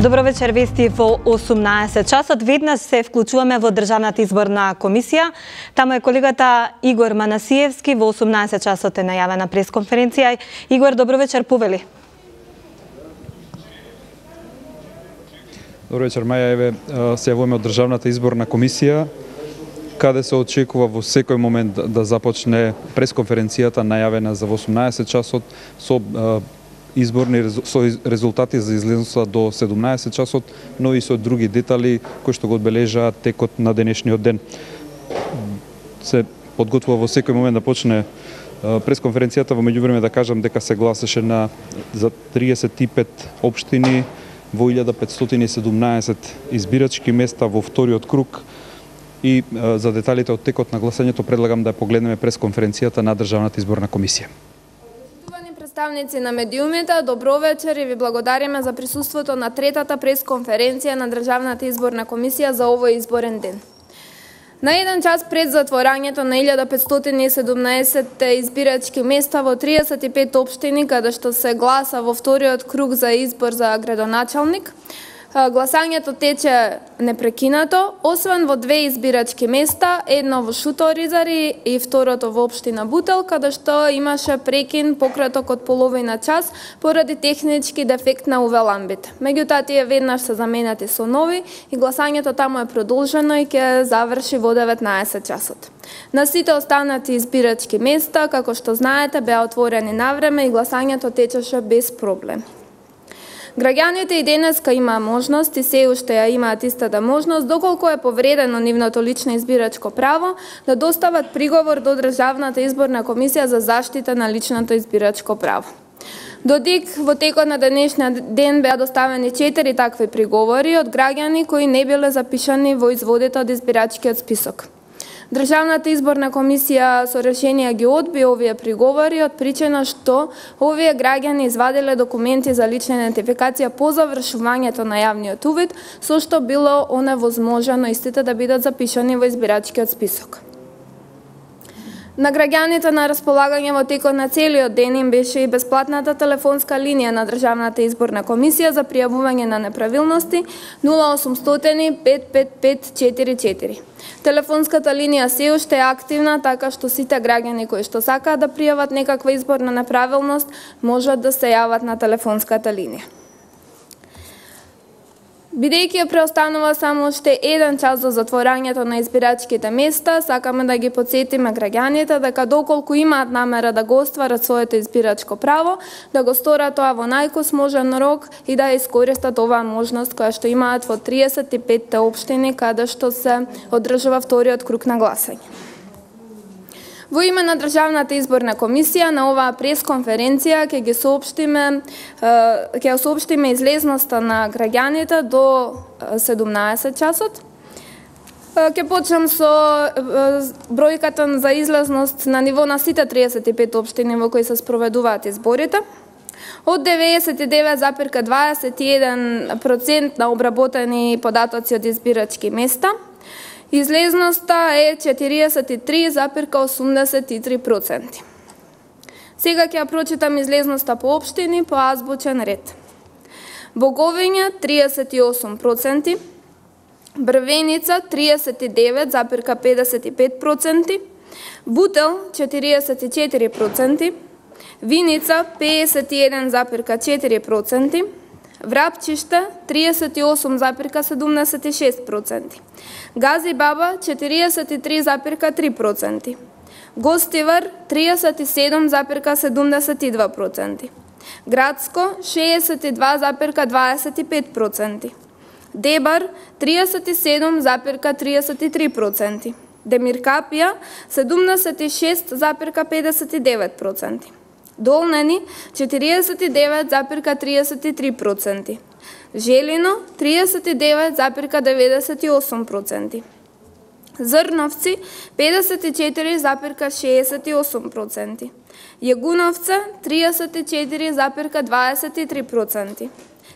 Добро вечер, вести во 18 часот. Веднаш се вклучуваме во Државната изборна комисија. Таму е колегата Игор Манасиевски. Во 18 часот е најавена пресконференција. Игор, добро вечер, повели. Добро вечер, Маја. Еве, се јавуваме од Државната изборна комисија, каде се очекува во секој момент да започне пресконференцијата најавена за 18 часот со со резултати за излезноста до 17 часот, но и со други детали кои што го одбележаат текот на денешниот ден. Се подготвува во секој момент да почне пресконференцијата. Во меѓувреме да кажам дека се гласеше за 35 општини во 1517 избирачки места во вториот круг. И за деталите од текот на гласањето предлагам да погледнеме пресконференцијата на Државната изборна комисија. Представници на медиумите, добро вечер и ви благодариме за присуството на третата пресконференција на Државната изборна комисија за овој изборен ден. На еден час пред затворањето на 1517 избирачки места во 35 општини, каде што се гласа во вториот круг за избор за градоначалник, гласањето тече непрекинато, освен во две избирачки места, едно во Шуторизари и второто во општина Бутел, каде што имаше прекин пократок од половина час поради технички дефект на УВ-ламбите. Меѓутоа тие веднаш се заменети со нови и гласањето таму е продолжено и ќе заврши во 19 часот. На сите останати избирачки места, како што знаете, беа отворени навреме и гласањето течеше без проблем. Граѓаните и денеска имаа можност и се уште ја имаат истата можност, доколку е повредено нивното лично избирачко право, да достават приговор до Државната изборна комисија за заштита на личното избирачко право. Додик во текот на денешниот ден беа доставени 4 такви приговори од граѓани кои не биле запишани во изводите од избирачкиот список. Државната изборна комисија со решение ги одби овие приговори од причина што овие граѓани извадиле документи за лична идентификација по завршувањето на јавниот увид, со што било оневозможено истите да бидат запишани во избирачкиот список. На граѓаните на располагање во текот на целиот ден им беше и бесплатната телефонска линија на Државната изборна комисија за пријавување на неправилности 0800 555 44. Телефонската линија се уште е активна, така што сите граѓани кои што сакаат да пријават некаква изборна неправилност можат да се јават на телефонската линија. Бидејќи ја преостанува само уште еден час до затворањето на избирачките места, сакаме да ги потсетиме граѓаните дека доколку имаат намера да го остварат своето избирачко право, да го сторат тоа во најкосможен рок и да искористат оваа можност која што имаат во 35 општини каде што се одржува вториот круг на гласање. Во име на Државната изборна комисија на оваа пресконференција ќе соопштиме излезноста на граѓаните до 17 часот. Ќе почнам со бројката за излезност на ниво на сите 35 општини во кои се спроведуваат изборите. Од 99,21% на обработени податоци од избирачки места, излезноста е 43,83%. Сега ќе ја прочитам излезноста по општини по азбучен ред. Боговиња 38%, Брвеница 39,55%, Бутел 44%, Виница 51,4%, Врапчиште 38,76%, Гази Баба 43,3%, Гостивар 37,72%, Градско 62,25%, Дебар 37,33%, Демиркапија 76,59%, Долнени 49,33%, Желино 39,98%, Зрновци 54,68%, Јагуновца 34,23%,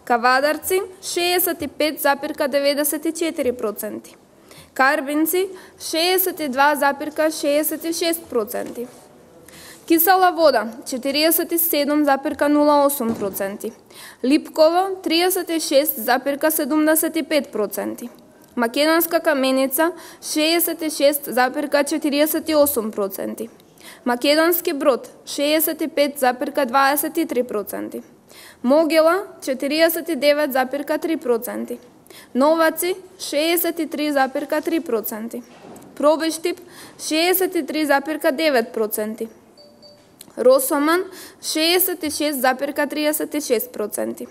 Кавадарци 65,94%, Карбинци 62,66%, Кисела вода 47,08%, липково 36,75%, македонска каменица 66,48%, македонски брод 65,23%, могила 49,3%, новаци 63,3%, пробештип 63,9%, Росоман 66,36%,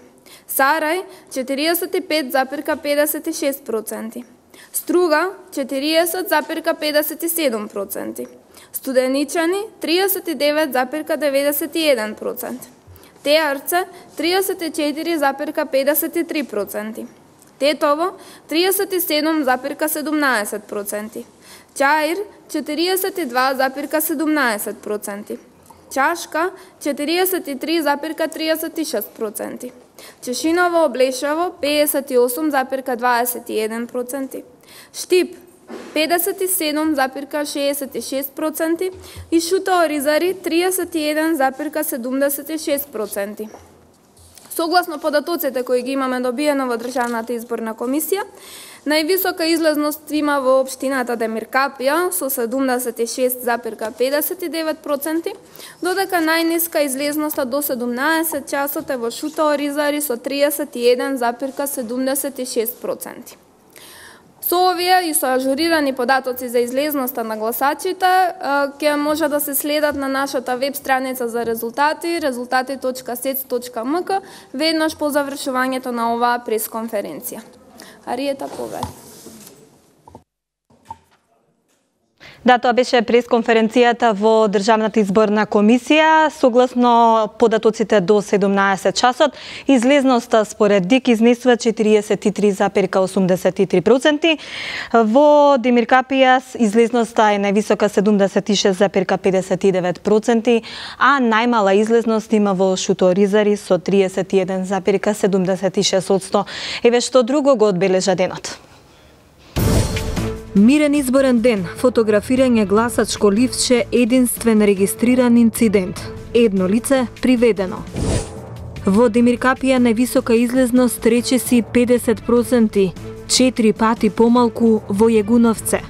Сарај 45,56%, Струга 40,57%, Студеничани 39,91%, Теарце 34,53%, Тетово 37,17%, Чаир 42,17%, Чашка 43,36%, Чешиново Облешево 58,21%, Штип 57,66% и Шута Оризари 31,76%. Согласно податоците кои ги имаме добиено во Државната изборна комисија, највисока излезност има во општината Демиркапија со 76,59%, додека најниска излезноста до 17 часот е во Шута Оризари со 31,76%. Со овие и со ажурирани податоци за излезноста на гласачите ќе може да се следат на нашата веб страница за резултати rezultati.sec.mk веднаш по завршувањето на оваа пресконференција. Ариета Повер. Да, тоа беше пресконференцијата во Државната изборна комисија. Согласно податоците до 17 часот, излезноста според ДИК изнесува 43,83%. Во Демиркапија излезноста е највисока 76,59%, а најмала излезност има во Шута Оризари со 31,76%. Еве што друго го одбележа денот. Мирен изборен ден, фотографирање гласачко ливче, единствен регистриран инцидент. Едно лице приведено. Во Демиркапија највисока излезност речиси 50%, 4 пати помалку во Јегуновце.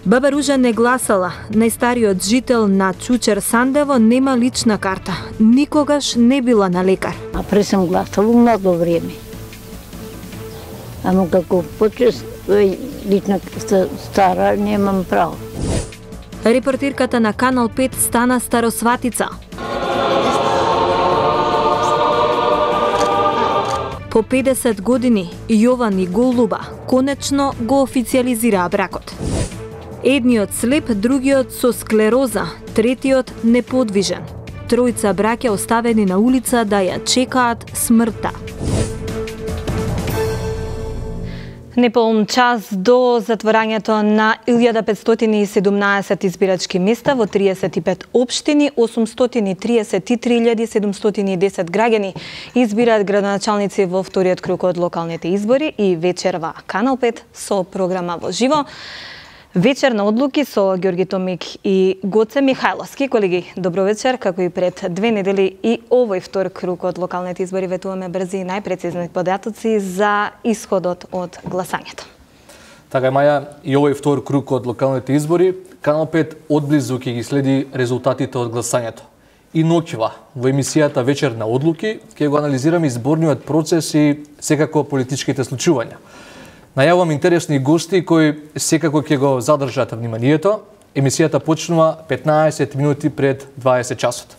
Баба Ружа не гласала, најстариот жител на Чучер Сандево нема лична карта, никогаш не била на лекар. А пред сам гласала много време. Ама како почест лична стара, немам право. Репортирката на Канал 5 стана старосватица. По 50 години Јован и Голуба конечно го официализираа бракот. Едниот слеп, другиот со склероза, третиот неподвижен. Тројца браќа оставени на улица да ја чекаат смртта. Неполн час до затворањето на 1517 избирачки места во 35 општини, 833.710 граѓани избираат градоначалници во вториот круг од локалните избори и вечерва Канал 5 со програма во живо. Вечер на одлуки со Ѓорги Томик и Гоце Михајловски. Колеги, добро вечер. Како и пред 2 недели и овој втор круг од локалните избори ветуваме брзи и најпрецизни податоци за исходот од гласањето. Така е, Маја, и овој втор круг од локалните избори, Канал 5 одблизу ќе ги следи резултатите од гласањето. И ноќва во емисијата Вечер на одлуки ќе го анализираме изборниот процес и секако политичките случувања. Најавувам интересни гости кои секако ќе го задржат вниманието. Емисијата почнува 15 минути пред 20 часот.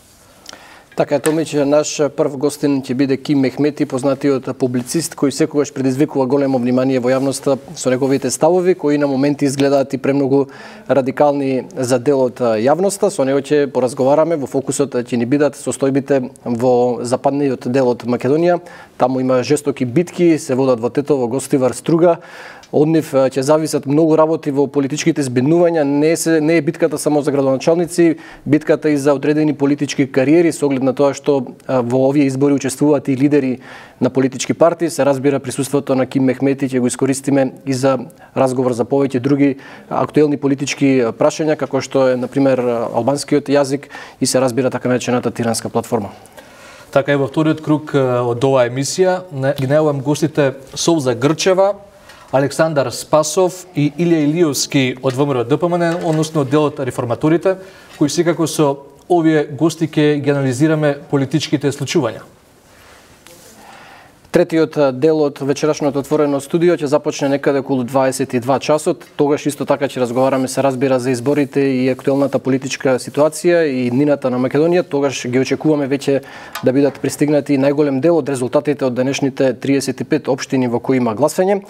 Така е, Томич, наш прв гостин ќе биде Ким Мехмети, познатиот публицист кој секогаш предизвикува големо внимание во јавноста со неговите ставови кои на моменти изгледаат и премногу радикални за дел од јавноста. Со него ќе поразговараме, во фокусот ќе ни бидат состојбите во западниот дел од Македонија. Таму има жестоки битки, се водат во Тетово, Гостивар, Струга. Од нив ќе зависат многу работи во политичките збеднувања, не е битката само за градоначалници, битката и за одредени политички кариери, со оглед на тоа што во овие избори учествуваат и лидери на политички партии. Се разбира, присуството на Ким Мехмети ќе го искористиме и за разговор за повеќе други актуелни политички прашања, како што е, например, албанскиот јазик и се разбира така наречената тиранска платформа. Така и во вториот круг од оваа емисија ги најавам гостите Солза Грчева, Александар Спасов и Илија Илиевски од ВМРО ДПМН, односно делот реформаторите, кои секако со овие гости ќе ги анализираме политичките случувања. Третиот дел од вечерашното отворено студио ќе започне некаде околу 22 часот. Тогаш исто така ќе разговараме, се разбира, за изборите и актуелната политичка ситуација и днината на Македонија. Тогаш ги очекуваме веќе да бидат пристигнати најголем дел од резултатите од денешните 35 општини во кои има гласање.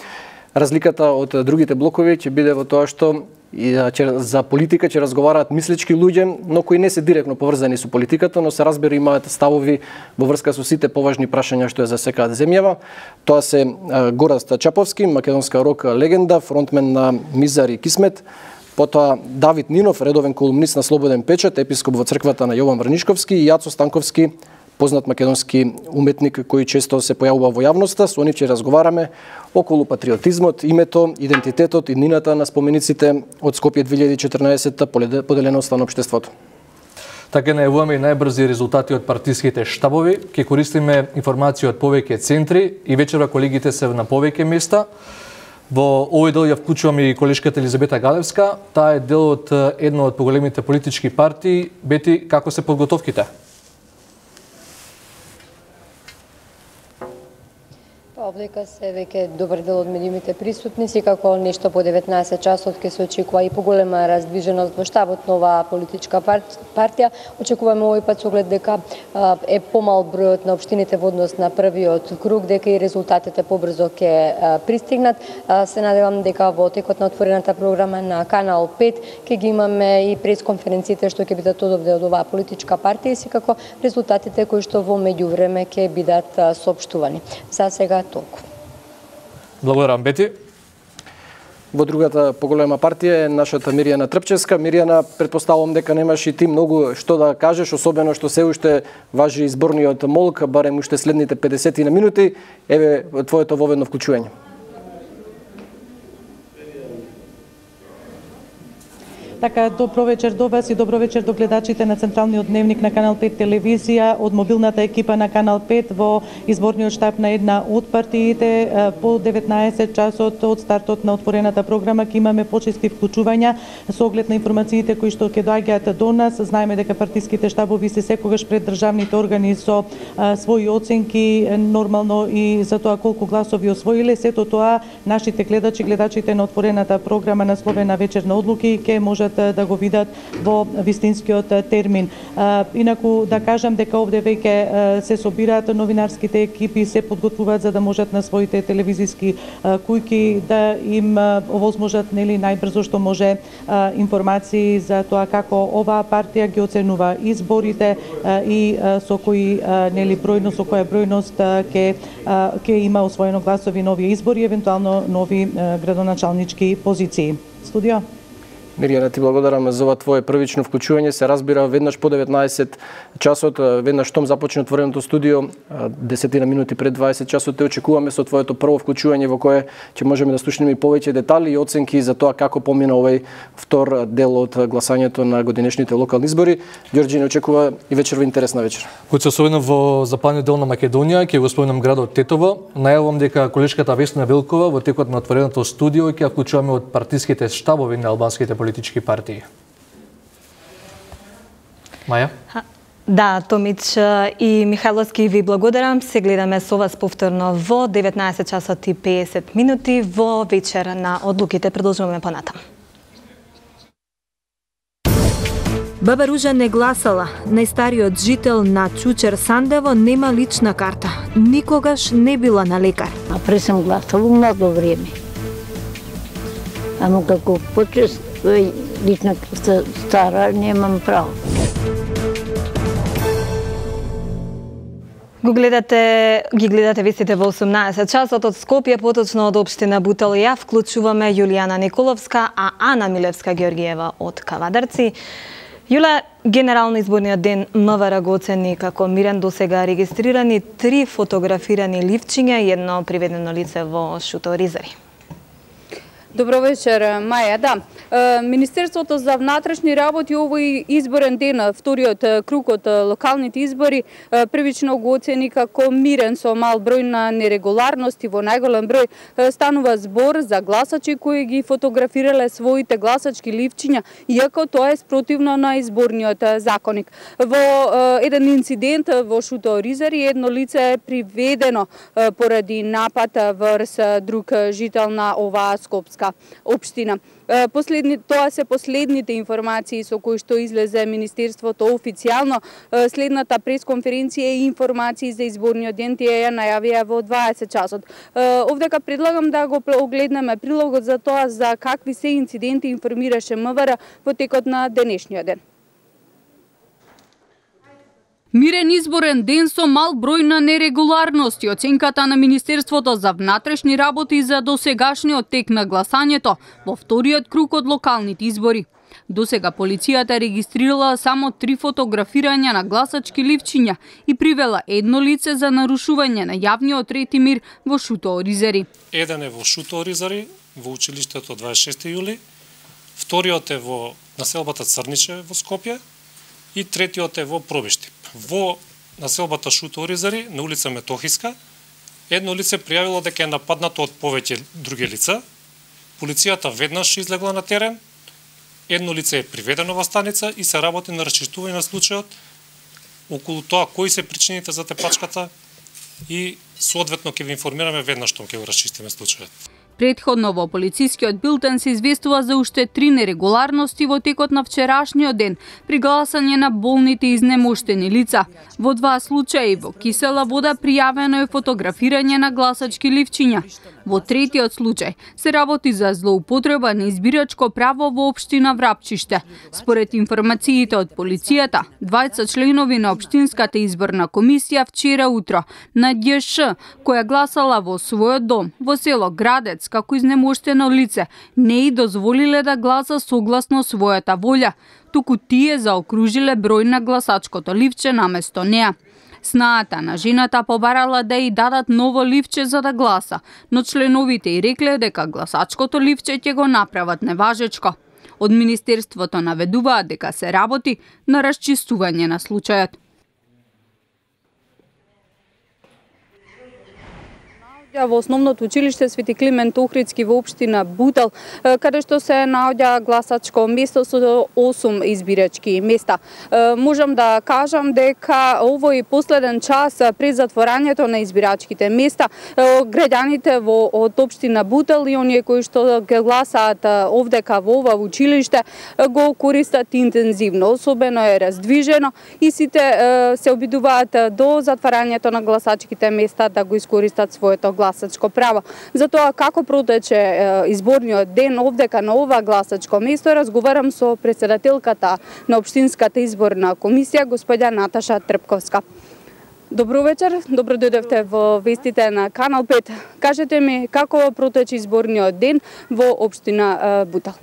Разликата од другите блокови ќе биде во тоа што за политика ќе разговараат мислички луѓе, но кои не се директно поврзани со политиката, но се разбира имаат ставови во врска со сите поважни прашања што ја засекаат земјава. Тоа се Гораст Чаповски, македонска рок легенда, фронтмен на Мизар и Кисмет, потоа Давид Нинов, редовен колумнист на Слободен печат, епископ во црквата на Јован Врнишковски, и Јацо Станковски, познат македонски уметник кој често се појавува во јавноста. Со нив ќе разговараме околу патриотизмот, името, идентитетот и днината на спомениците од Скопје 2014, поделеноста на општеството. Така најавуваме и најбрзи резултати од партиските штабови. Ќе користиме информација од повеќе центри и вечерва колегите се на повеќе места. Во овој дел ја вклучуваме и колешката Елизабета Галевска. Таа е дел од една од поголемите политички партии. Бети, како се подготовките? Облека се веќе добар дел од медиумите присутни, секако нешто по 19 часот ќе се очекува и поголема раздвиженост во штабот на оваа политичка партија. Очекуваме овој пат со оглед дека е помал бројот на општините во однос на првиот круг, дека и резултатите побрзо ќе пристигнат. Се надевам дека во текот на отворената програма на Канал 5 ќе ги имаме и пресконференциите што ќе бидат одовде од оваа политичка партија и секако резултатите кои што во меѓувреме ќе бидат соопштувани. За сега толку. Благодарам, Бети. Во другата поголема партија е нашата Мирјана Трпчевска. Мирјана, претпоставувам дека немаш и ти многу што да кажеш, особено што се уште важи изборниот молк, барем уште следните 50 минути. Еве твоето воведно вклучување. Така, добро вечер до вас и добро вечер до гледачите на Централниот дневник на Канал 5 телевизија. Од мобилната екипа на Канал 5 во изборниот штаб на една од партиите по 19 часот од стартот на отворената програма ќе имаме почести вклучувања со оглед на информациите кои што ќе доаѓаат до нас. Знаеме дека партиските штабови се секогаш пред државните органи со своји оценки, нормално и за тоа колку гласови освоиле. Сето тоа нашите гледачите на отворената програма на Словена вечерна одлуки ќе можат да го видат во вистинскиот термин. Инаку да кажам дека овде веќе се собираат новинарските екипи, се подготвуваат за да можат на своите телевизиски кујки да им овозможат најбрзо што може информации за тоа како оваа партија ги оценува изборите и со кои бројност, со која бројност ќе има освоено гласови нови избори, евентуално нови градоначалнички позиции. Студио. Мирјана, ти благодарам за ова твое првично вклучување. Се разбира, веднаш по 19 часот, веднаш штом започне отвореното студио, 10 минути пред 20 часот те очекуваме со твоето прво вклучување во кое ќе можеме да слушнеме и повеќе детали и оценки за тоа како помина овој втор дел од гласањето на годинешните локални избори. Ѓорѓе не очекува и вечерва интересна вечер. Кој се освојна во западниот дел на Македонија, ќе го спомнам градот Тетово. Најавувам дека колешката Весна Велкова во текот на отвореното студио ќе вклучуваме од партиските штабови на албанските политички партии. Маја? Да, Томич и Михайловски, ви благодарам. Се гледаме со вас повторно во 19 часот и 50 минути во вечер на одлуките. Продолжуваме понатам. Баба Ружа не гласала. Најстариот жител на Чучер Сандево нема лична карта. Никогаш не била на лекар. А пресам гласала много време. Ама како почест лична стара, немам право. Ги гледате вестите во 18 часот од Скопје, поточно од општина Бутел. Ја вклучуваме Јулијана Николовска, а Ана Милевска-Ѓоргиева од Кавадарци. Јула, генерално изборниот ден МВР го оцени како мирен, досега регистрирани 3 фотографирани ливчиња и едно приведено лице во шуторизари. Добро вечер, Маја. Да, Министерството за внатрешни работи овој изборен ден, вториот круг од локалните избори, првично го оцени како мирен со мал број на нерегуларности. Во најголем број станува збор за гласачи кои ги фотографирале своите гласачки ливчиња, иако тоа е спротивно на изборниот законник. Во еден инцидент во шуторизари едно лице е приведено поради напад врз друг жител на оваа скопска општина. Тоа се последните информации со кои што излезе Министерството официјално. Следната пресконференција и информации за изборниот ден тие ја најавија во 20 часот. Овдека предлагам да го огледнеме прилогот за тоа за какви се инциденти информираше МВР во текот на денешниот ден. Мирен изборен ден со мал број на нерегуларности. Оценката на Министерството за внатрешни работи за досегашниот тек на гласањето во вториот круг од локалните избори. Досега полицијата регистрирала само 3 фотографирања на гласачки ливчиња и привела едно лице за нарушување на јавниот ред и мир во Шуторизари. Еден е во Шуторизари, во училиштето 26 јули, вториот е во населбата Црниче во Скопје и третиот е во Пробишти. Во населбата Шуторизари на улица Метохиска едно лице пријавило дека е нападнато од повеќе други лица. Полицијата веднаш излегла на терен, едно лице е приведено во станица и се работи на расчистување на случајот околу тоа кои се причините за тепачката и соодветно ќе ви информираме веднаш што ќе го расчистиме случајот. Предходно во полицискиот билтен се известува за уште 3 нерегуларности во текот на вчерашниот ден при гласање на болните и изнемоштени лица. Во 2 случаи во кисела вода пријавено е фотографирање на гласачки ливчиња. Во третиот случај се работи за злоупотреба на избирачко право во општина Врапчиште. Според информациите од полицијата, 20 членови на општинската изборна комисија вчера утро на ДЈШ, која гласала во својот дом во село Градец како изнемоштено лице, не и дозволиле да гласа согласно својата волја, туку тие заокружиле број на гласачкото ливче наместо неа. Снаата на жената побарала да и дадат ново ливче за да гласа, но членовите и рекле дека гласачкото ливче ќе го направат неважечко. Од Министерството наведуваат дека се работи на расчистување на случајот. Во основното училиште Свети Климент Охридски во општина Бутел, каде што се наоѓа гласачко место со 8 избирачки места. Можам да кажам дека овој последен час пред затворањето на избирачките места, граѓаните од општина Бутел и оние кои што ги гласаат овдека во ова училиште го користат интензивно, особено е раздвижено и сите се обидуваат до затворањето на гласачките места да го искористат своето гласачко право. За тоа како протече изборниот ден овдека на ова гласачко место, разговарам со претседателката на општинската изборна комисија, господја Наташа Трпковска. Добро вечер, добро дојдовте во вестите на Канал 5. Кажете ми како протече изборниот ден во општина Бутел?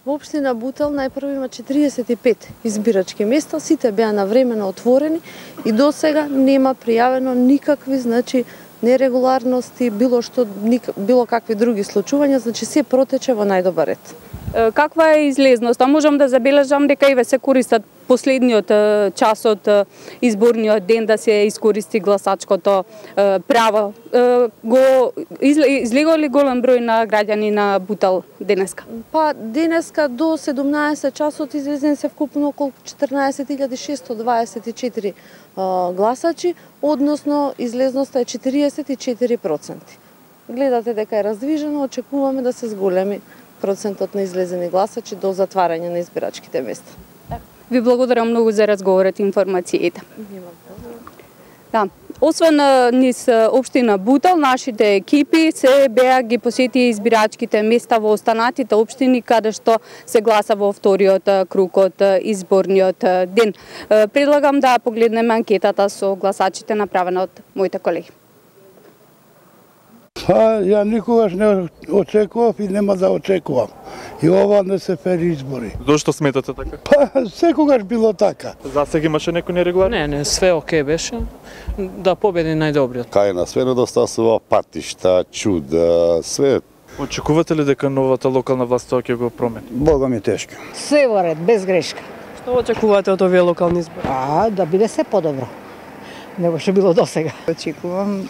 Во општина Бутел најпрво има 45 избирачки места, сите беа навремено отворени и до сега нема пријавено никакви, нерегуларности, било какви други случувања, се протече во најдобар ред. Каква е излезноста? Можам да забележам дека и се користат последниот час од изборниот ден да се искористи гласачкото право. Излегува ли голем број на граѓани на Бутел денеска? Денеска до 17 часот излезен се вкупно околу 14.624 гласачи, односно излезноста е 44%. Гледате дека е раздвижено, очекуваме да се зголеми процентот на излезени гласачи до затварање на избирачките места. Ви благодарам многу за разговорот и информациите. Да. Освен низ општина Бутел, нашите екипи се беа ги посети избирачките места во останатите општини каде што се гласа во вториот круг од изборниот ден. Предлагам да погледнеме анкетата со гласачите направена од моите колеги. Ја никогаш не очекував и нема да очекувам. И ова не се фер избори. Зошто сметате така? Секогаш било така. Засега имаше некој нерегуларно? Не, све окей беше. Да победи најдобриот. Кај на све недостасува патишта, чуда, све. Очекувате ли дека новата локална власт тоа ќе го промени? Бога ми тешко. Све во ред, без грешка. Што очекувате од овие локални избори? Да биде се подобро. Него што било досега. Очекувам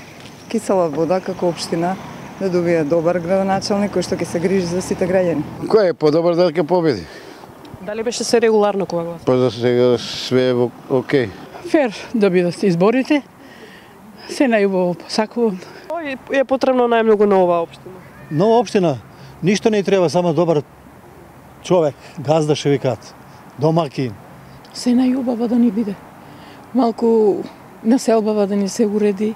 Кисела Вода како општина да добие добар градоначалник кој што ќе се грижи за сите граѓани. Кој е подобар да ќе победи? Дали беше се регуларно кога гласа? Па за сега све е окей. Фер да бидат изборите. Се најубаво посакувам. Е потребно најмногу на оваа општина. Нова општина, ништо не треба, само добар човек, газда ше викаат, домакин. Се најубаво да ни биде. Малку населбава да ни се уреди,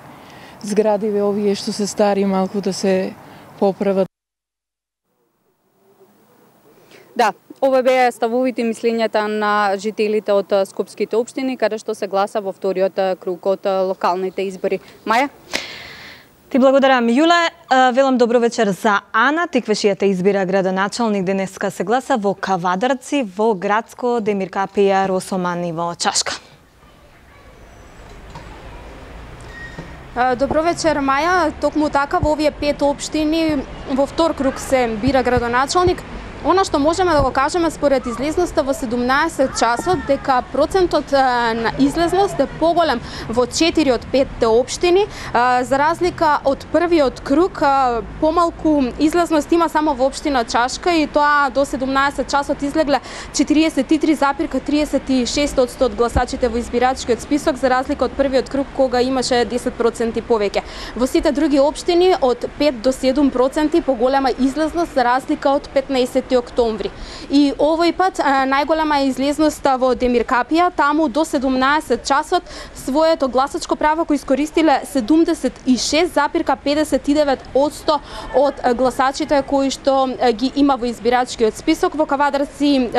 зградиве овие што се стари малку да се поправат. Да, ова беа ставовите и мислењата на жителите од скопските општини каде што се гласа во вториот круг од локалните избори. Маја? Ти благодарам, Јуле. Велам добро вечер за Ана. Тиквешијата избира градоначалник. Денеска се гласа во Кавадарци, во Градско, Демиркапија, Росоман и во Чашка. Добро вечер, Маја. Токму така во овие 5 општини во втор круг се бира градоначалник. Она што можеме да го кажеме според излезноста во 17 часот дека процентот на излезност е поголем во 4 од 5 општини, за разлика од првиот круг, помалку излезност има само во општина Чашка и тоа до 17 часот излегле 43,36% од гласачите во избирачкиот список, за разлика од првиот круг кога имаше 10% повеќе. Во сите други општини од 5 до 7% поголема излезност за разлика од 15 октомври. И овој пат најголема е излезноста во Демиркапија, таму до 17 часот своето гласачко право кој искористиле 76,59% од гласачите кои што ги има во избирачкиот список. Во Кавадарци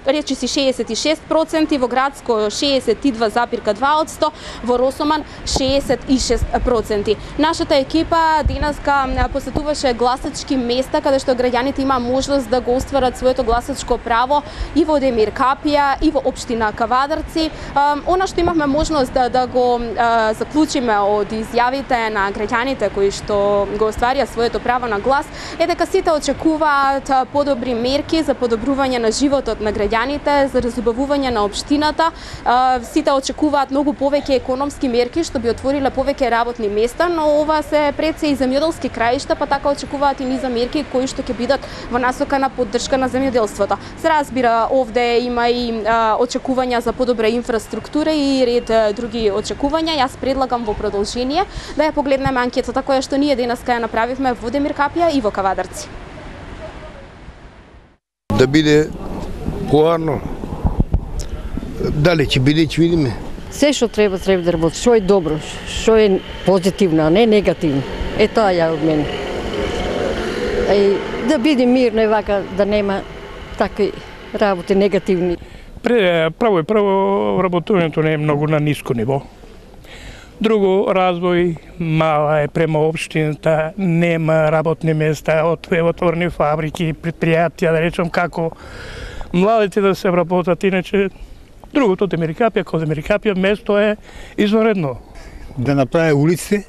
речиси 66%, во Градско 62,2%, во Росоман 66%. Нашата екипа денеска посетуваше гласачки места каде што граѓаните има можност да го остварат своето гласачко право и во Демиркапија и во општина Кавадарци. Она што имавме можност да го заклучиме од изјавите на граѓаните кои што го остварија своето право на глас е дека сите очекуваат подобри мерки за подобрување на животот на граѓаните, за разубавување на општината. Сите очекуваат многу повеќе економски мерки што би отвориле повеќе работни места, но ова се пред се и земјоделски краишта, па така очекуваат и низа мерки кои што ќе бидат во насока на поддршка на земјоделството. Се разбира, овде има и очекувања за подобра инфраструктура и ред други очекувања. Јас предлагам во продолжение да ја погледнеме анкетата која што ние денеска ја направивме во Демиркапија и во Кавадарци. Да биде поарно. Дали ќе биде, ќе видиме. Се што треба да работи, што е добро, што е позитивно, а не негативно. Е тоа ја од мене. Да биде мирно и вака, да нема такви работи негативни. Прво работувањето не е многу на ниско ниво. Друго, развој мала е према општината, нема работни места, отворени фабрики, предпријатија, да речем како младите да се работат, иначе другото Демиркапија, како Демиркапија, место е извонредно. Да направи улиците,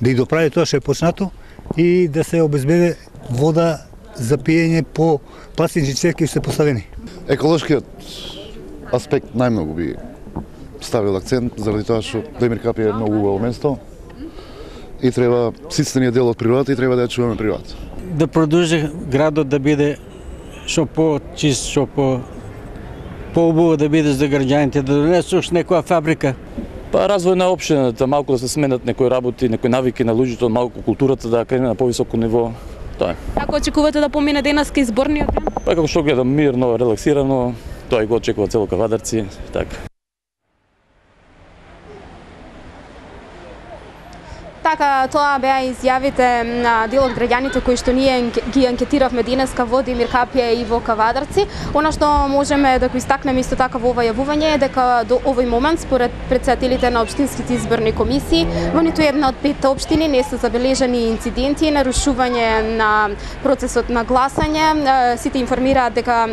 да ги доправи тоа што е почнато и да се обезбеди вода за пиење по пластични цевки се поставени. Еколошкиот аспект најмногу би ставил акцент заради тоа што Демиркапија е многу убаво место и треба сите дел од природата и треба да ја чуваме природата. Да продолжи градот да биде што по-чист, што по-убаво да биде за граѓаните, да донесеш некоја фабрика. Па развој на општината, малку да се сменат некои работи, некои навики на луѓето, малку културата да крене на повисоко ниво. Тоа е. Како очекувате да помине денеска изборниот ден? Па како што гледам мирно, релаксирано, тоа и го очекува цело Кавадарци, така. така тоа беа изјавите на дел од граѓаните кои што ние ги анкетиравме денеска во Демир Капија и во Кавадарци. Она што можеме да го истакнеме исто така во ова јавување е дека до овој момент според председателите на општинските изборни комисии во ниту една од 5 општини не се забележани инциденти и нарушување на процесот на гласање. Сите информираат дека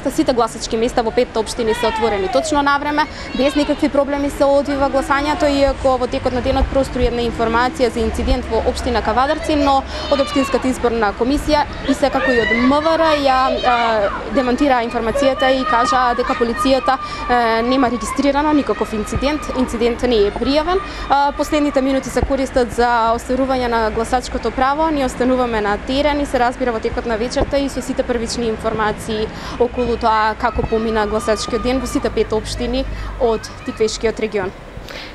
сите гласачки места во 5 општини се отворени точно на време, без никакви проблеми се одвива гласањето, иако во текот на денот проструи една информација за инцидент во општина Кавадарци, но од општинската изборна комисија и секако и од МВР ја демонтира информацијата и кажа дека полицијата нема регистрирано никаков инцидент, инцидентот не е пријавен. Последните минути се користат за остварување на гласачкото право, ние остануваме на терен и се разбира во текот на вечерта и со сите првични информации околу тоа како помина гласачкиот ден во сите 5 општини од Тиквешкиот регион.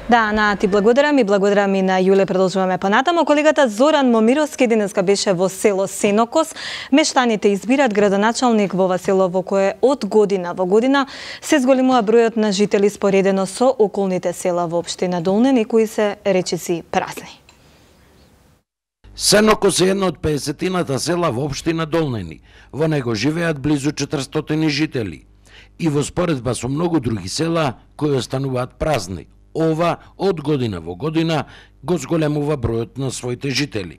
Да, Ана, ти благодарам и на Јуле. Продолжуваме понатаму. Колегата Зоран Момировски денеска беше во село Сенокос. Мештаните избират градоначалник во ова село во кое од година во година се зголемува бројот на жители споредено со околните села во општина Долнен и кои се речиси празни. Сенокос е едно од 50-тината села во општина Долнени. Во него живеат близу 400 жители. И во споредба со многу други села кои остануваат празни, ова од година во година го зголемува бројот на своите жители.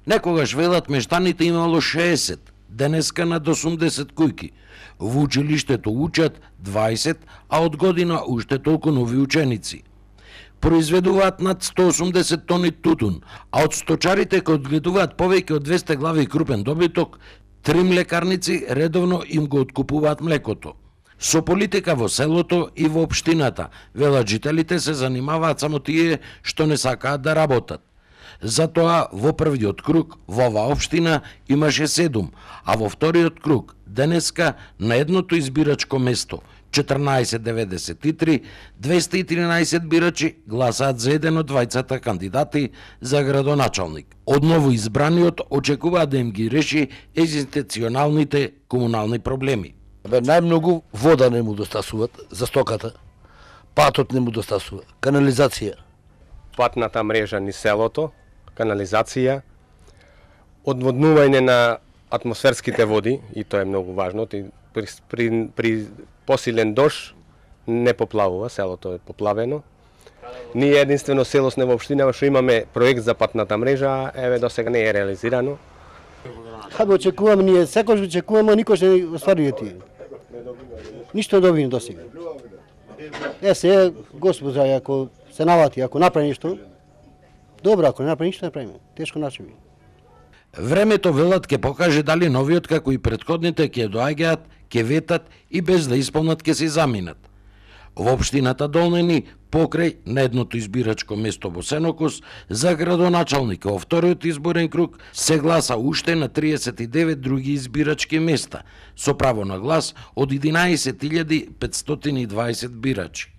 Некогаш велат мештаните имало 60, денеска над 80 кујки. Во училиштето учат 20, а од година уште толку нови ученици. Произведуваат над 180 тони тутун, а од сточарите кои одгледуваат повеќе од 200 глави крупен добиток, 3 млекарници редовно им го откупуваат млекото. Со политика во селото и во општината, велат жителите, се занимаваат само тие што не сакаат да работат. Затоа во првиот круг во оваа општина имаше 7, а во вториот круг денеска на едното избирачко место 1493, 213 бирачи гласаат за еден од двајцата кандидати за градоначалник. Одново избраниот очекува да им ги реши екзистенционалните комунални проблеми. Најмногу вода не му достасуваат за стоката, патот не му достасува, канализација. Патната мрежа ни селото, канализација, одводнување на атмосферските води, и тоа е многу важно, при посилен дожд не поплавува, селото е поплавено. Ние единствено село сме во општина што имаме проект за патната мрежа, еве до сега не е реализирано. Каде очекуваме ние, секој очекуваме, никош не остварува тие. Ништо добиме до сега. Се, Господа, ако се навати, ако направи нешто, добро, ако не направи ништо, не правиме. Тешко начини. Времето, велат, ќе покаже дали новиот, како и предходните, ќе доаѓаат, ќе ветат и без да исполнат ќе се заминат. Во општината Долнени, покрај на едното избирачко место во Сенокос, за градоначалник во вториот изборен круг се гласа уште на 39 други избирачки места, со право на глас од 11.520 бирачи.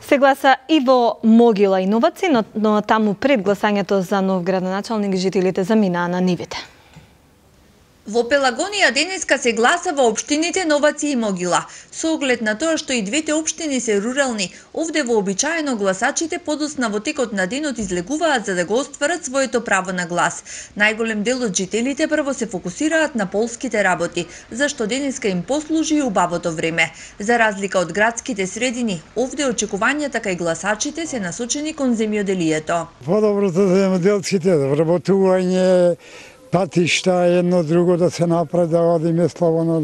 Се гласа и во Могила и Новаци, но таму пред гласањето за нов градоначалник жителите заминаа на нивите. Во Пелагонија денеска се гласа во општините Новаци и Могила. Со оглед на тоа што и двете општини се рурални, овде вообичаено гласачите подоцна во текот на денот излегуваат за да го остварат своето право на глас. Најголем дел од жителите прво се фокусираат на полските работи, зашто денеска им послужи и убавото време. За разлика од градските средини, овде очекувањата кај гласачите се насочени кон земјоделието. Подоброто за земјоделците, вработување, патишта, едно друго да се направи, да одиме слободно.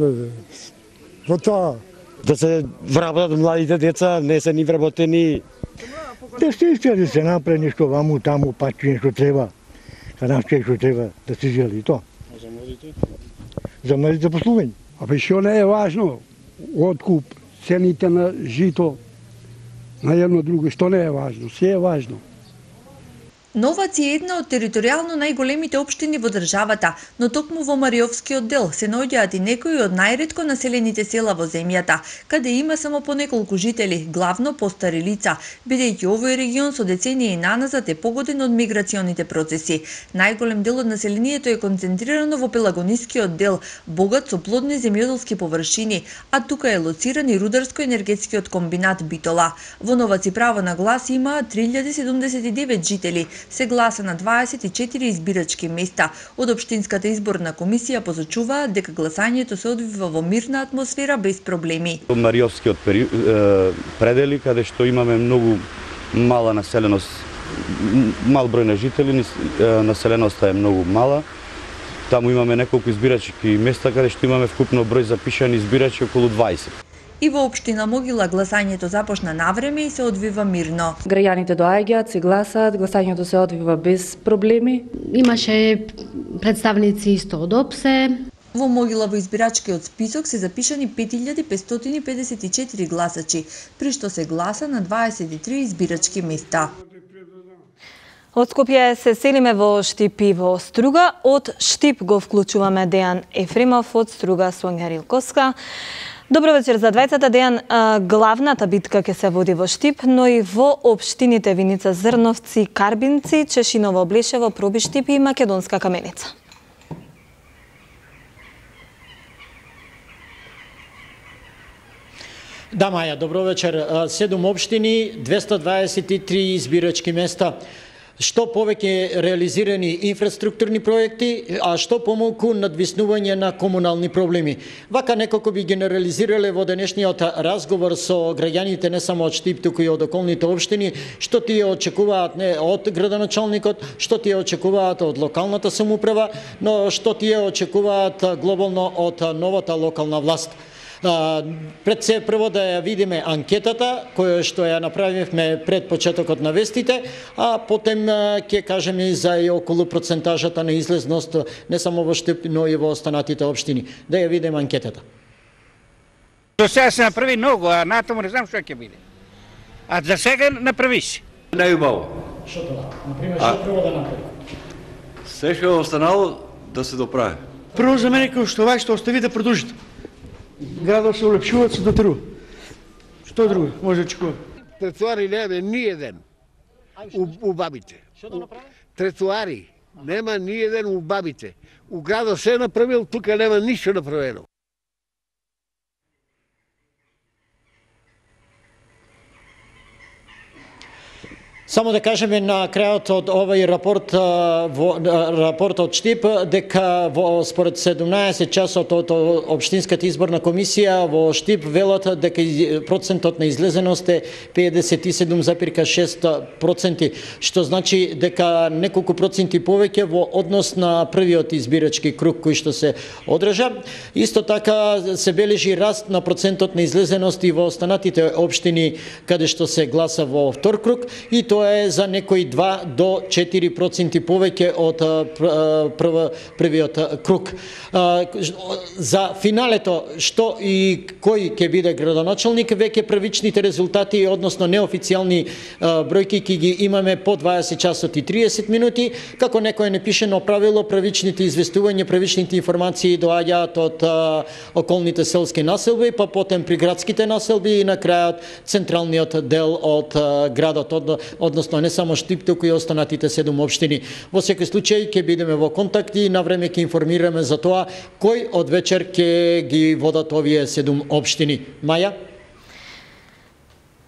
Во тоа. Да се вработат младите деца, не се ни вработени. Да се иска да се направи нешто ваму, таму, пачи нешто треба. Каде што треба да се жели тоа. А за младите? За младите послување. А па што не е важно? Откуп, цените на жито, на едно друго, што не е важно? Се е важно. Новаци е една од територијално најголемите општини во државата, но токму во Мариовскиот дел се наоѓаат и некои од најретко населените села во земјата, каде има само по неколку жители, главно постари лица, бидејќи овој регион со децении наназад е погоден од миграционите процеси. Најголем дел од населението е концентрирано во Пелагонискиот дел, богат со плодни земјоделски површини, а тука е лоциран и рударско-енергетскиот комбинат Битола. Во Новаци право на глас имаат 3079 жители, се гласа на 24 избирачки места. Од Општинската изборна комисија посочуваат дека гласањето се одвива во мирна атмосфера без проблеми. Мариовскиот предели, каде што имаме многу мала населеност, мал број на жители, населеноста е многу мала. Таму имаме неколку избирачки места каде што имаме вкупно број запишани избирачи околу 20. И во општина Могила гласањето започна навреме и се одвива мирно. Граѓаните доаѓаат, се гласаат, гласањето се одвива без проблеми. Имаше представници исто од ОПСЕ. Во Могила во избирачкиот список се запишани 5554 гласачи, при што се гласа на 23 избирачки места. Од Скопје се селиме во Штип и во Струга. Од Штип го вклучуваме Дејан Ефремов, од Струга Сонја Рилковска. Добро вечер за двајцата. Дејан, главната битка ќе се води во Штип, но и во општините Виница, Зрновци, Карбинци, Чешиново, Блешево, Проби Штип и Македонска Каменица. Да, Маја, добро вечер. 7 општини, 223 избирачки места. Што повеќе реализирани инфраструктурни проекти, а што помалку надвиснување на комунални проблеми. Вака некако би генерализирале во денешниот разговор со граѓаните не само од Штип, туку и од околните општини, што тие очекуваат не од градоначалникот, што тие очекуваат од локалната самоуправа, но што тие очекуваат глобално од новата локална власт. Пред се прво да ја видиме анкетата, која што ја направивме пред почетокот на вестите, а потем ќе кажеме и за и околу процентажата на излезност не само во Штип, но и во останатите општини. Да ја видиме анкетата. До сега се направи многу, а натаму не знам што ќе биде. А за сега направи се. Најубаво. Што тоа? Например, што треба да направи? Се што останало да се доправи. Прво за мене кој што што остави да продолжите. Градот се улепшува, се дотрува. Што друго може да очекува? Тротуари нема ни еден у бабите. Што да направи? Тротуари нема ни еден у бабите. У градот се направил, тука нема ништо направено. Само да кажеме на крајот од овој рапорт од Штип дека според 17 часот од Општинската изборна комисија во Штип велат дека процентот на излезеност е 57,6%, што значи дека неколку проценти повеќе во однос на првиот избирачки круг кој што се одржа. Исто така се бележи раст на процентот на излезеност и во останатите општини каде што се гласа во втор круг и тоа е за некои 2 до 4% повеќе од првиот круг. За финалето, што и кој ќе биде градоначалник, веќе првичните резултати, односно неофицијални бројки ќе ги имаме по 20 часот и 30 минути, како некое непишено правило, првичните известувања, првичните информации доаѓаат од околните селски населби, па потем при градските населби и на крајот централниот дел од градот, односно не само Штип, туку и останатите 7 општини. Во секој случај ќе бидеме во контакт и навреме ќе информираме за тоа кој од вечер ќе ги водат овие 7 општини. Маја?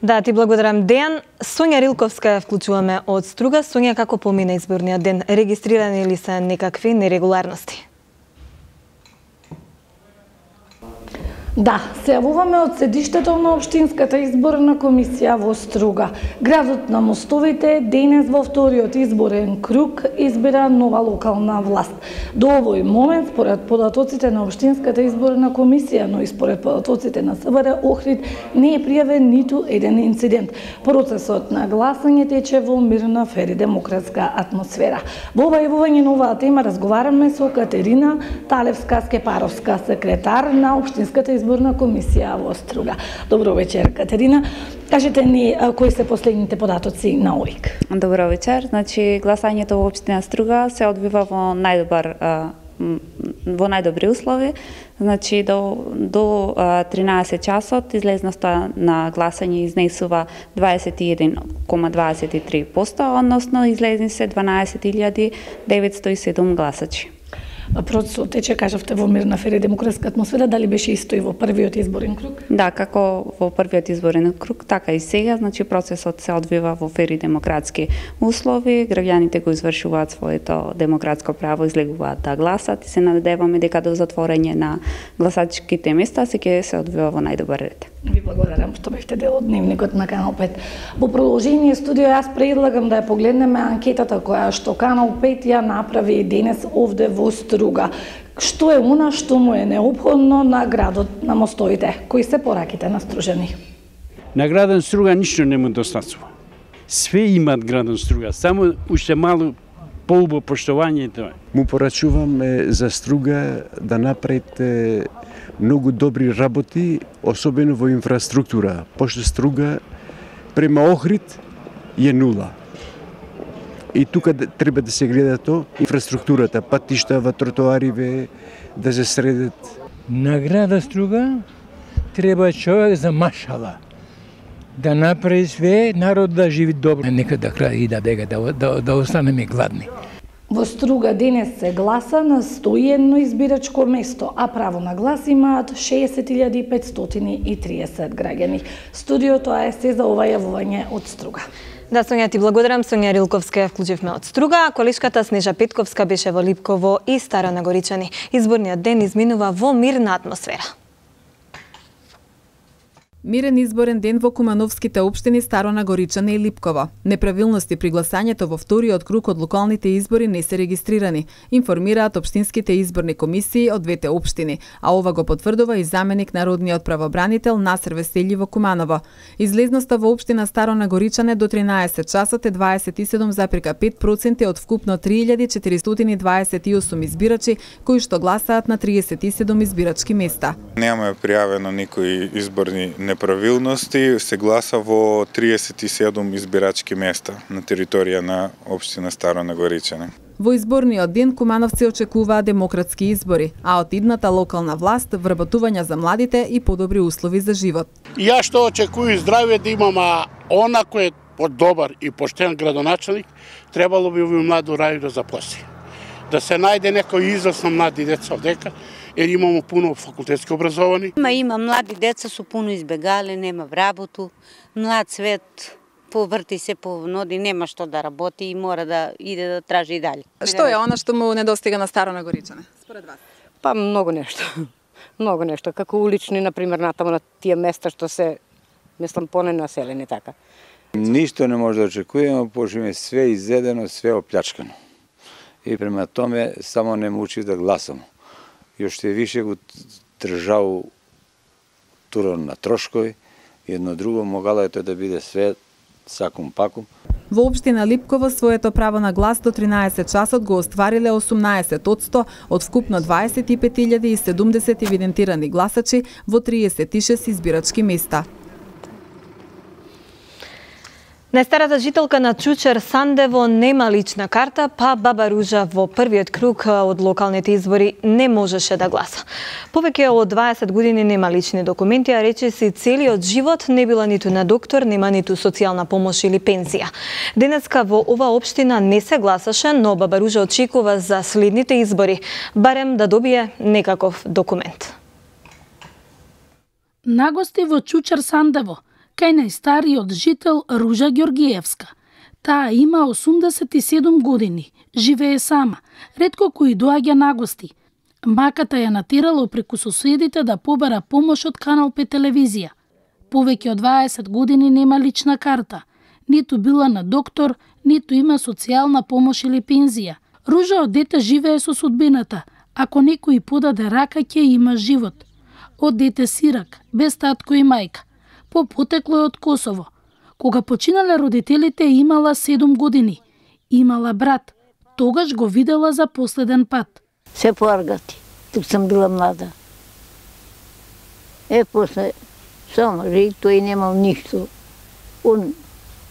Да, ти благодарам, Дејан. Сонја Рилковска ја вклучуваме од Струга. Сонја, како помина изборниот ден? Регистрирани ли се некакви нерегуларности? Да, се јавуваме од седиштето на Општинската изборна комисија во Струга. Градот на мостовите денес во вториот изборен круг избира нова локална власт. До овој момент, според податоците на Општинската изборна комисија, но и според податоците на СВР Охрид, не е пријавен ниту еден инцидент. Процесот на гласање тече во мирна, фер и демократска атмосфера. Во ова јавување на оваа тема разговараме со Катерина Талевска-Скепаровска, секретар на Општинската изборна комисија во Струга. Добро вечер, Катерина. Кажете ни кои се последните податоци на ОИК. Добро вечер. Значи гласањето во општина Струга се одвива во најдобри услови. Значи до 13 часот излезноста на гласање изнесува 21,23%, односно излезни се 12.907 гласачи. Процесот тече, кажавте, во мирна фер и демократска атмосфера, дали беше исто и во првиот изборен круг? Да, како во првиот изборен круг, така и сега, значи процесот се одвива во фер и демократски услови, граѓаните го извршуваат своето демократско право, излегуваат да гласат и се надеваме дека до затворање на гласачките места се одвива во најдобар ред. Ви благодарам што бевте дел од дневникот на Канал 5. Во продолжение студио јас предлагам да ја погледнеме анкетата која што Канал 5 ја направи денес овде во Струга. Што е она што му е неопходно на градот на мостовите? Кои се пораките на стружани? На градот Струга ништо не му достатува. Све имат градот Струга, само уште мало поубаво поштовање и тоа. Му порачувам за Струга да направите многу добри работи, особено во инфраструктура, пошто Струга према Охрид е нула. И тука треба да се гледа тоа, инфраструктурата, патиштава, тротоариве, да се средат. На града Струга треба човек за машала, да направи све, народ да живи добро. Нека да крај и да останеме гладни. Во Струга денес се гласа на 101 избирачко место, а право на глас имаат 60.530 граѓани. Студиото е се за ова јавување од Струга. Да, Сонја, ти благодарам. Сонја Рилковска ја вклучивме од Струга, колешката Снежа Петковска беше во Липково и Стара Нагоричани. Изборниот ден изминува во мирна атмосфера. Мирен изборен ден во кумановските општини Старо Нагоричане и Липково. Неправилности при гласањето во вториот круг од локалните избори не се регистрирани, информираат општинските изборни комисии од двете општини, а ова го потврдува и заменик народниот правобранител Насер Веселји во Куманово. Излезноста во општина Старо Нагоричане до 13 часот е 27,5% од вкупно 3428 избирачи кои што гласаат на 37 избирачки места. Нема пријавено никои изборни неправилности, се гласа во 37 избирачки места на територија на општина Старо Нагоричане. Во изборниот ден кумановци очекуваат демократски избори, а од идната локална власт вработувања за младите и подобри услови за живот. Ја што очекувам здравје да имам она кој е добар и поштен градоначелник, требало би овој младо рај да запласи. Да се најде некој израз на млади деца овдека, jer imamo puno fakultetski obrazovani. Има млади деца со пуно избегале, нема работу, млад свет, поврти се по ноди, нема што да работи и мора да иде да тражи и дали. Што е она што му недостига на Старо Нагоричане, според вас? Па многу нешто. Многу нешто, како улични, например, натаму на тие места што се, мислам, поненаселени така. Ништо не може да очекуваме, пошто е све изедено, све оплячкано. И према томе само не мучи да гласам. И уште више го држал турон на трошкови, едно друго могало е тоа да биде све сакум пакум. Во општина Липково своето право на глас до 13 часот го оствариле 18% од вкупно 25.070 евидентирани гласачи во 36 избирачки места. Најстарата жителка на Чучер Сандево нема лична карта, па баба Ружа во првиот круг од локалните избори не можеше да гласа. Повеќе од 20 години нема лични документи, а речиси целиот живот не била ниту на доктор, нема ниту социјална помош или пензија. Денеска во ова општина не се гласаше, но баба Ружа очекува за следните избори, барем да добие некаков документ. Нагости во Чучер Сандево кај најстариот жител Ружа Ѓоргиевска. Таа има 87 години, живее сама, ретко кој доаѓа на гости. Маката ја натерала преку соседите да побара помош од Канал 5 телевизија. Повеќе од 20 години нема лична карта, ниту била на доктор, ниту има социјална помош или пензија. Ружа од дете живее со судбината, ако некој подаде рака ќе има живот. Од дете сирак, без татко и мајка. По потекло е од Косово. Кога починале родителите имала 7 години. Имала брат. Тогаш го видела за последен пат. Се поаргати. Тук сам била млада. После само и тој немал ништо. Он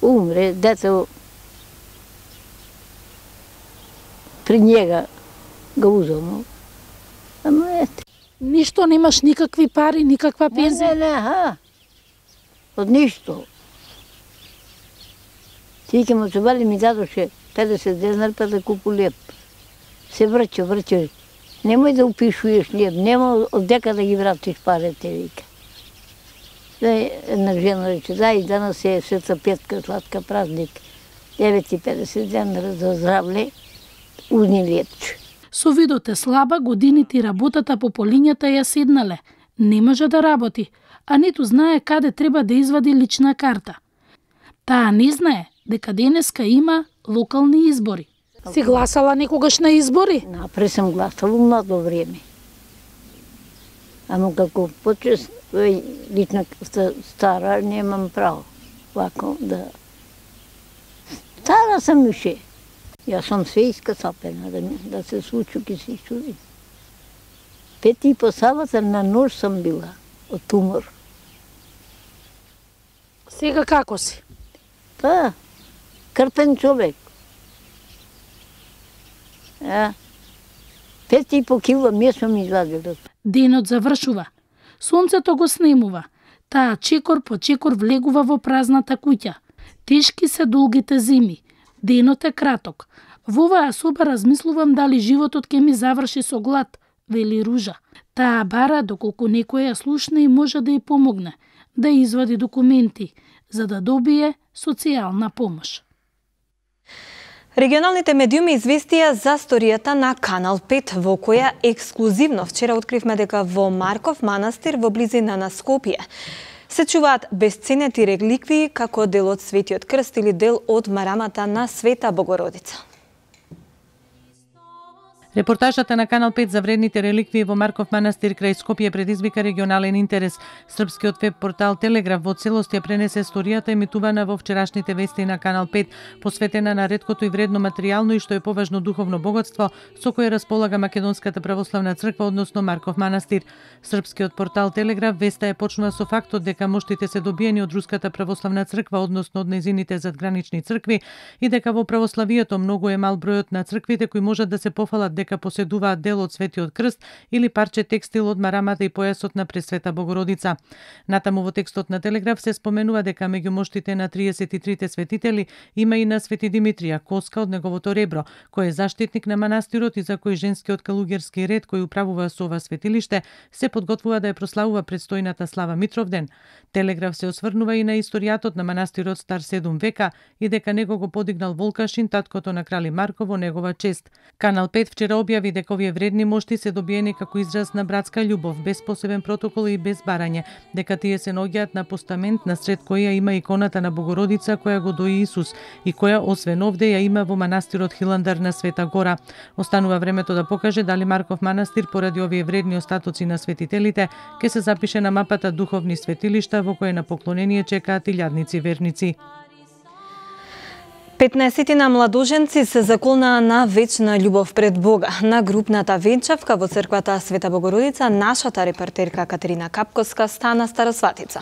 умре, дето при njega ga uzelo. Ама ете. Ништо, немаш никакви пари, никаква пензија? Не, од ништо. Ти ке му се вали ми дадоше 50 денар па да купу леп. Се врќа. Немој да упишуеш леп, нема од дека да ги вратиш парите, вика. Една жена рече, и данас е Света Петка, сладка празник. 9,50 денара за здравле, узни лепче. Со видот е слаба, годините и работата по полињата ја седнале. Не може да работи, а ниту знае каде треба да извади лична карта. Таа не знае дека денеска има локални избори. Си гласала некогаш на избори? Напре сам гласала младо време. Ама како почест лична стара, немам право. Вако да... Стара сам више. Јас сум све искасапена, да се случи ке се чуди. 5,5 сабата на нож сам била, од тумор. Сега како си? Па, крпен човек. 5,5 кила месо ми извадило. Денот завршува. Сонцето го снемува. Таа чекор по чекор влегува во празната куќа. Тешки се долгите зими. Денот е краток. Во оваа соба размислувам дали животот ќе ми заврши со глад, вели Ружа. Таа бара доколку некој ја слушне и може да ја помогне, да извади документи, за да добие социјална помош. Регионалните медиуми известија за сторијата на Канал 5, во која ексклузивно вчера откривме дека во Марков манастир во близина на Скопје се чуваат бесценети реликвии како дел од Светиот крст или дел од марамата на Света Богородица. Репортажата на Канал 5 за вредните реликвии во Марков манастир крај Скопје предизвика регионален интерес. Српскиот веб портал Телеграф во целост ја пренесе историјата емитувана во вчерашните вести на Канал 5, посветена на реткото и вредно материјално и што е поважно духовно богатство со кое располага Македонската православна црква, односно Марков манастир. Српскиот портал Телеграф веста е почнува со фактот дека моштите се добиени од Руската православна црква, односно од нејзините задгранични цркви, и дека во православието многу е мал бројот на црквите кои можат да се пофалат дека поседуваат дел од Светиот крст или парче текстил од марамата и појасот на Пресвета Богородица. Натаму во текстот на Телеграф се споменува дека меѓу моштите на 33 светители има и на Свети Димитрија, коска од неговото ребро, кој е заштитник на манастирот и за кој женскиот калугерски ред кој управува со ова светилиште се подготвува да ја прославува предстојната Слава Митровден. Телеграф се осврнува и на историјатот на манастирот стар 7 века и дека него го подигнал Волкашин, таткото на крали Марко, во негова чест. Канал 5 вчера објави дека овие вредни мошти се добиени како израз на братска љубов, без посебен протокол и без барање, дека тие се наоѓаат на постамент насред која има иконата на Богородица која го дои Исус и која освен овде ја има во манастирот Хиландар на Света Гора. Останува времето да покаже дали Марков манастир поради овие вредни остатоци на светителите ќе се запише на мапата духовни светилишта во кои на поклонение чекаат илјадници верници. 15 на младоженци се заколнаа на вечна љубов пред Бога. На групната венчавка во црквата Света Богородица нашата репортерка Катерина Капковска стана старосватица.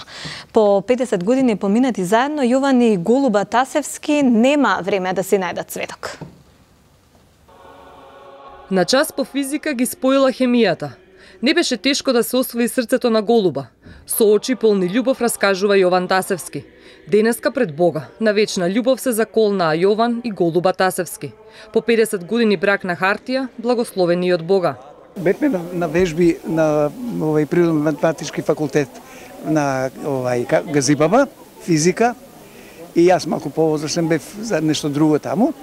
По 50 години поминати заедно, Јован и Голуба Тасевски нема време да си најдат цветок. На час по физика ги споила хемијата. Не беше тешко да се освои срцето на Голуба. Со очи полни љубов раскажува Јован Тасевски. Денеска пред Бога, на вечна љубов се заколнаа Јован и Голуба Тасевски. По 50 години брак на хартија, благословени од Бога. Бевме на вежби на природно-математички факултет на Газибаба, физика, и јас малку повозрастен бев за нешто друго таму.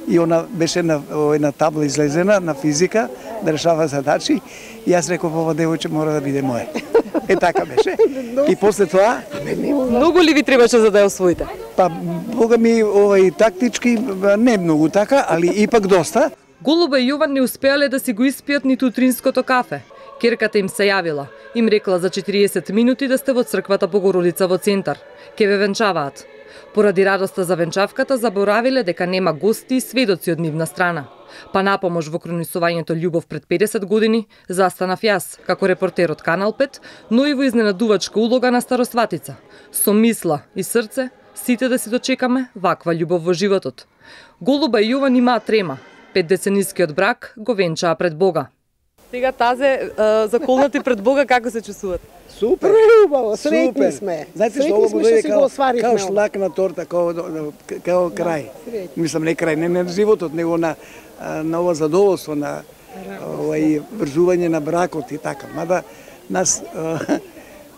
И она беше на една табла излезена на физика да решава задачи и јас реков ова девојче мора да биде мое. Така беше. И после тоа многу ли ви требаше за да ја освоите? Па бога ми тактички не многу така, али ипак доста. Голуба и Јован не успеале да си го испијат ниту утринското кафе. Керката им се јавила. Им рекла за 40 минути да сте во црквата Богородица во центар. Ке ве венчаваат. Поради радоста за венчавката заборавиле дека нема гости и сведоци од нивна страна. Па на помош во кронисувањето љубов пред 50 години застанав јас, како репортер од Канал 5, но и во изненадувачка улога на старосватица. Со мисла и срце, сите да си дочекаме ваква љубов во животот. Голуба и Јован имаа трема. 5-деценискиот брак го венчаа пред Бога. Сега тазе заколнати пред Бога, како се чувствуват? Супер. Убаво, среќни сме. Знаете што Среќни сме што си го остварихме. Као шлак на торта, као крај. Мислам, не крај, не на животот, него на ова задоволство, на врзување на бракот и така. Мада нас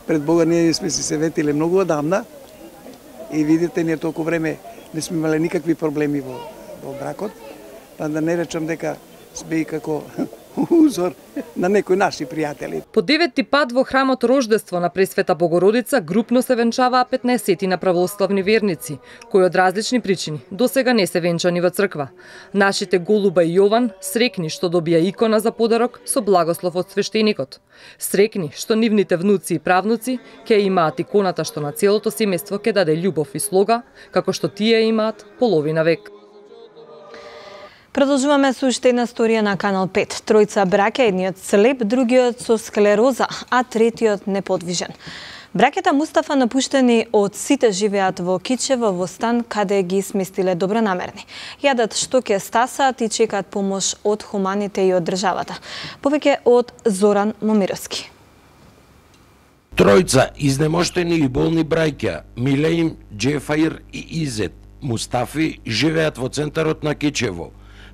пред Бога ние сме се ветиле многу одамна и видите, ние толку време не сме имале никакви проблеми во бракот, па да не речам дека сме и како узор на некои наши пријатели. По 9-ти пат во храмот Рождество на Пресвета Богородица групно се венчаваа 15 на православни верници, кои од различни причини досега не се венчани во црква. Нашите Голуба и Јован срекни што добија икона за подарок со благослов од свештеникот. Срекни што нивните внуци и правнуци ќе имаат иконата што на целото семејство ќе даде љубов и слога, како што тие имаат половина век. Продолжуваме со уште една сторија на Канал 5. Тројца браќа, едниот слеп, другиот со склероза, а третиот неподвижен. Браќата Мустафа, напуштени од сите, живеат во Кичево, во стан каде ги сместиле добронамерни. Јадат што ќе стасаат и чекаат помош од хуманите и од државата. Повеќе од Зоран Момировски. Тројца изнемоштени и болни браќа, Милеим, Џефаир и Изет Мустафи, живеат во центарот на Кичево.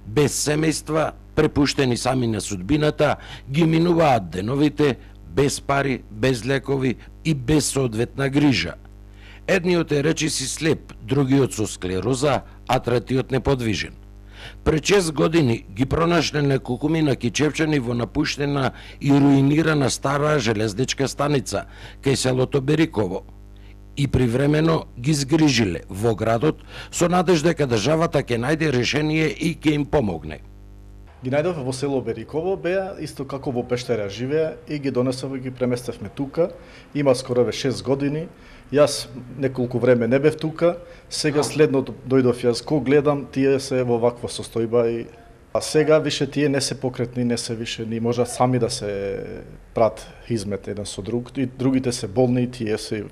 Без семејства, препуштени сами на судбината, ги минуваат деновите, без пари, без лекови и без соодветна грижа. Едниот е речиси слеп, другиот со склероза, а третиот неподвижен. Пред 6 години ги пронашле неколкумина кичевчани во напуштена и руинирана стара железничка станица кај селото Бериково. И привремено ги згрижиле во градот со надежда дека државата ќе најде решение и ќе им помогне. Ги најдов во село Бериково, беа исто како во пештера живеа и ги донесов и ги преместевме тука. Има скоро 6 години. Јас неколку време не бев тука, сега следното дојдов јас, ко гледам, тие се во ваква состојба и а сега више тие не се покретни, не се више ни можат сами да се прат хизмет еден со друг, и другите се болни и тие се.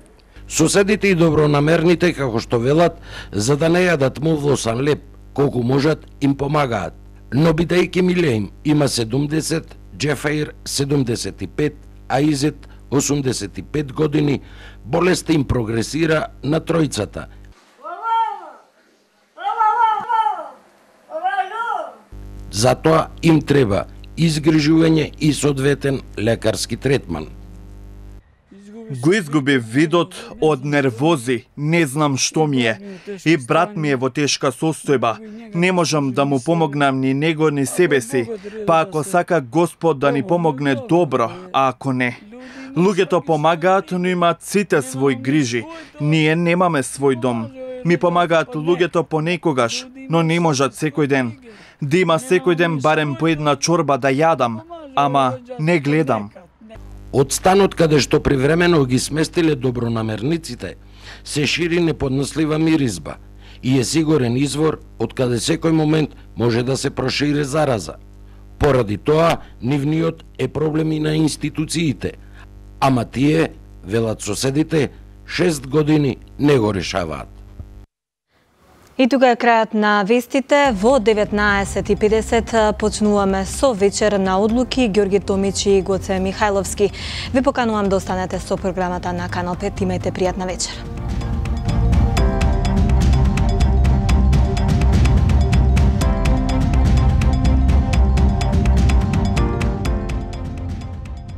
Соседите и добронамерните, како што велат, за да не јадат мувлосан леп, колку можат, им помагаат. Но бидејќи Милеим има 70, Џефаир 75, а Изет 85 години, болеста им прогресира на тројцата. Затоа им треба изгрижување и соодветен лекарски третман. Го изгубив видот од нервози, не знам што ми е. И брат ми е во тешка состојба. Не можам да му помогнам ни него, ни себе си. Па ако сака Господ да ни помогне, добро, а ако не. Луѓето помагаат, но имаат сите свој грижи. Ние немаме свој дом. Ми помагаат луѓето понекогаш, но не можат секој ден. Да има секој ден барем по една чорба да јадам, ама не гледам. Од станот каде што привремено ги сместиле добронамерниците, се шири неподнослива миризба и е сигурен извор од каде секој момент може да се прошири зараза. Поради тоа, нивниот е проблеми на институциите, ама тие, велат соседите, 6 години не го решаваат. И тука е крајот на вестите. Во 19:50 почнуваме со вечер на одлуки. Ѓорги Томич и Гоце Михајловски. Ви поканувам да останете со програмата на Канал 5. Имајте пријатна вечер.